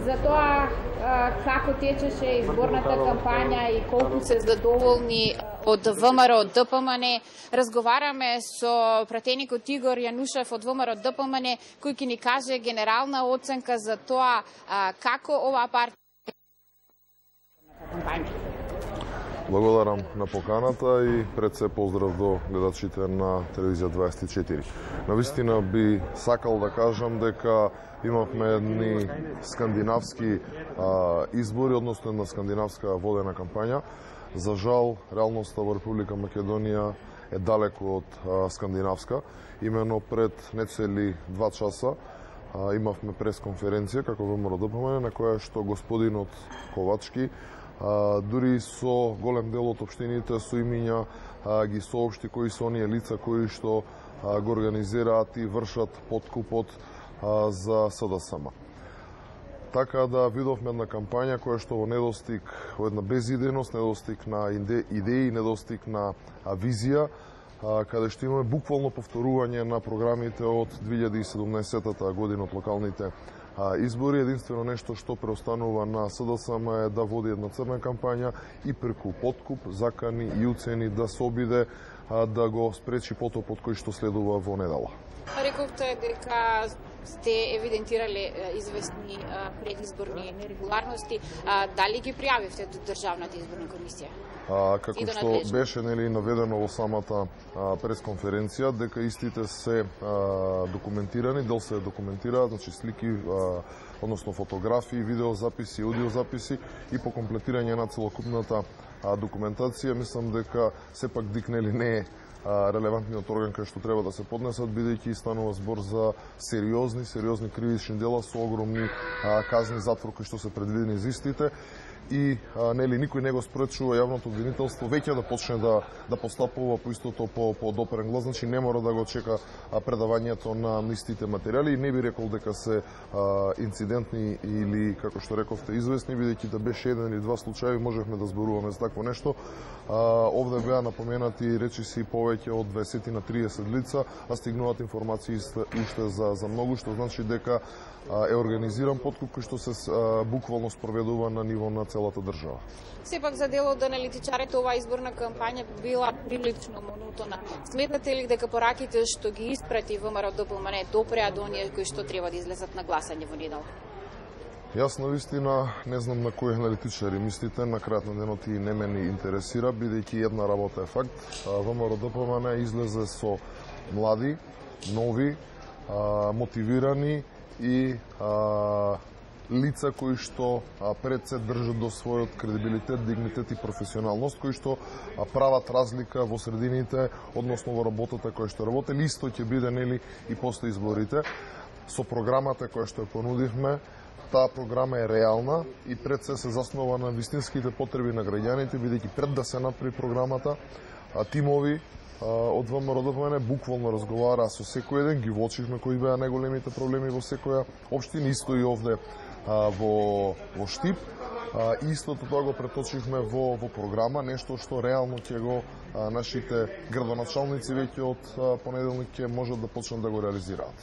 за тоа како течеше изборната кампања и колку се задоволни од ВМРО ДПМН. Разговараме со пратеникот Игор Јанушев од ВМРО ДПМН, кој ќе ни каже генерална оценка за тоа како оваа партија кампања. Благодарам на поканата и пред се поздрав до гледачите на Телевизија 24. Навистина би сакал да кажам дека имавме едни скандинавски избори, односно една скандинавска водена кампања. За жал, реалноста во Република Македонија е далеку од скандинавска. Имено пред нецели 2 часа имавме пресконференција како ВМРО ДПМН, на која што господинот Ковачки дури со голем дел од општините со имиња ги соопшти кои се оние лица кои што го организираат и вршат подкупот за СДСМ. Така да видовме една кампања која што во недостиг, во една безидејност, недостиг на идеи, недостиг на визија, каде што имаме буквално повторување на програмите од 2017 година од локалните избори. Единствено нешто што преостанува на СДСМ е да води една црна кампања и преку подкуп, закани и уцени да се обиде да го спречи потопот кој што следува во недела. Рековте дека сте евидентирале известни предизборни нерегуларности. Дали ги пријавивте до Државната изборна комисија? Како што беше наведено во самата пресконференција, дека истите се документирани, дел се документираат, значи слики, односно фотографии, видеозаписи, аудиозаписи и по комплетирање на целокупната документација, мислам дека сепак ДИК не е релевантниот орган кај што треба да се поднесат, бидејќи станува збор за сериозни кривични дела со огромни казни затвор кои што се предвидени за истите. И никој не го спречува јавното обвинителство веќе да почне да постапува по истото по допрен глас, значи не мора да го чека предавањето на истите материјали. И не би рекол дека се инцидентни или, како што рековте, известни, бидејќи да беше еден или два случаи можевме да зборуваме за такво нешто. Овде беа напоменати речиси повеќе од 20 на 30 лица, а стигнуваат информации уште за многу, што значи дека е организиран подкуп кој што се буквално спроведува на ниво на целата држава. Сепак за дел од аналитичарите оваа изборна кампања била прилично монотона. Сметнате ли дека пораките што ги испрати ВМРО ДПМН допреа до оние кои што треба да излезат на гласање во недела? Јас навистина не знам на кои аналитичари мислите, на крајот на денот и не ме ни интересира, бидејќи една работа е факт. ВМРО ДПМН излезе со млади, нови, мотивирани и лица кои што пред се држат до својот кредибилитет, дигнитет и професионалност, кои што прават разлика во средините, односно во работата која што работели, исто ќе биде и после изборите. Со програмата која што ја понудивме, таа програма е реална и пред се заснова на вистинските потреби на граѓаните, бидејќи пред да се направи програмата, тимови од ВМРО ДПМН буквално разговара со секој еден, ги воочивме кои беа најголемите проблеми во секоја општина, исто и овде во Штип. Истото тоа го преточивме во програма, нешто што реално ќе го нашите градоначалници веќе од понеделник ќе можат да почнат да го реализираат.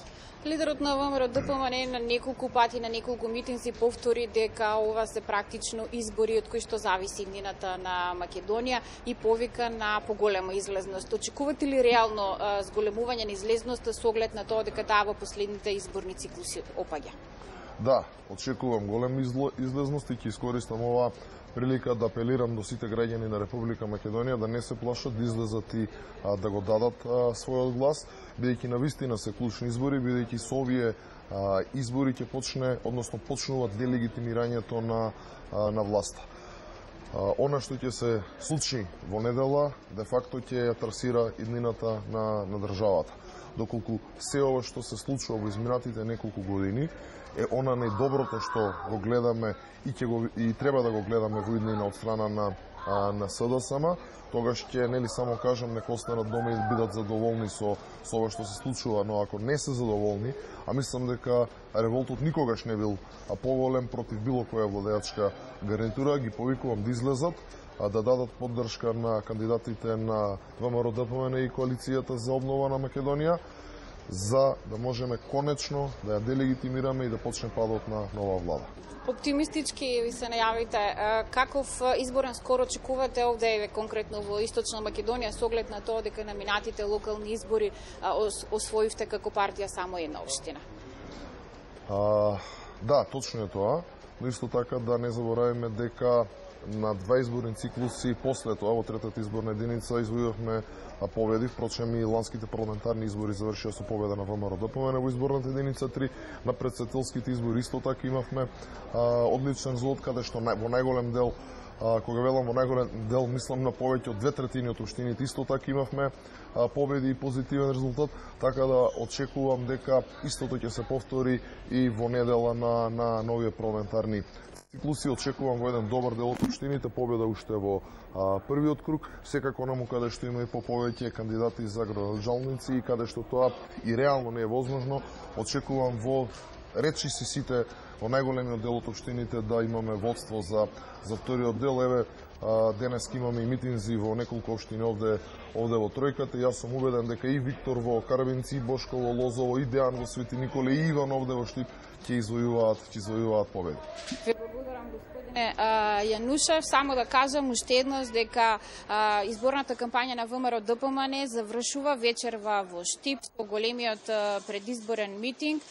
Лидерот на ВМРО ДПМН на неколку пати, на неколку митинзи повтори дека ова се практично избори од кои што зависи иднината на Македонија и повика на поголема излезност. Очекувате ли реално зголемување на излезноста со оглед на тоа дека таа во последните изборни циклуси опаѓа? Да, очекувам голем излезност и ќе искористам оваа прилика да апелирам до сите граѓани на Република Македонија да не се плашат, да излезат и да го дадат својот глас, бидејќи навистина се клучни избори, бидејќи со овие избори ќе почне, односно почнува делегитимирањето на власта. Она што ќе се случи во недела, де факто ќе ја трасира иднината на државата. Доколку се ова што се случува во изминатите неколку години е она најдоброто што го гледаме и треба да го гледаме во иднина од страна на СДСМ, тогаш ќе само кажам нека останат дома и бидат задоволни со ова што се случува, но ако не се задоволни, а мислам дека револтот никогаш не бил поголем против било која владеачка гарнитура, ги повикувам да излезат, да дадат поддршка на кандидатите на ВМРО ДПМН и коалицијата за обнова на Македонија, за да можеме конечно да ја делегитимираме и да почне падот на нова влада. Оптимистички ви се најавите. Каков изборен скор очекувате овде конкретно во Источна Македонија со оглед на тоа дека на минатите локални избори освоивте како партија само една општина? Да, точно е тоа, но исто така да не забораваме дека на два изборни циклуси после тоа, во третата изборна единица, извојувавме победи. Впрочем, и ланските парламентарни избори завршија со победа на ВМРО-ДПМН во изборната единица 3. На председателските избори исто така имавме одличен резултат, каде што во најголем дел, кога велам во најголем дел, мислам на повеќе од 2/3 од општините, исто така имавме победи и позитивен резултат, така да очекувам дека истото ќе се повтори и во недела на новите парламентарни циклуси. Очекувам во еден добар дел од општините победа уште во првиот круг, секако наму каде што има и повеќе кандидати за градоначалници и каде што тоа и реално не е возможно, очекувам во речиси сите во најголемиот дел од општините да имаме водство за вториот дел. Еве, денес имаме и митинзи во неколку општини овде во тројката. Јас сум убеден дека и Виктор во Карабинци, и Бошко во Лозово, и Дејан во Свети Николе, и Иван овде во Штип ќе извојуваат победи. Ви благодарам, господине Јанушев. Само да кажам уште еднаш дека изборната кампања на ВМРО-ДПМН завршува вечерва во Штип со големиот предизборен митинг.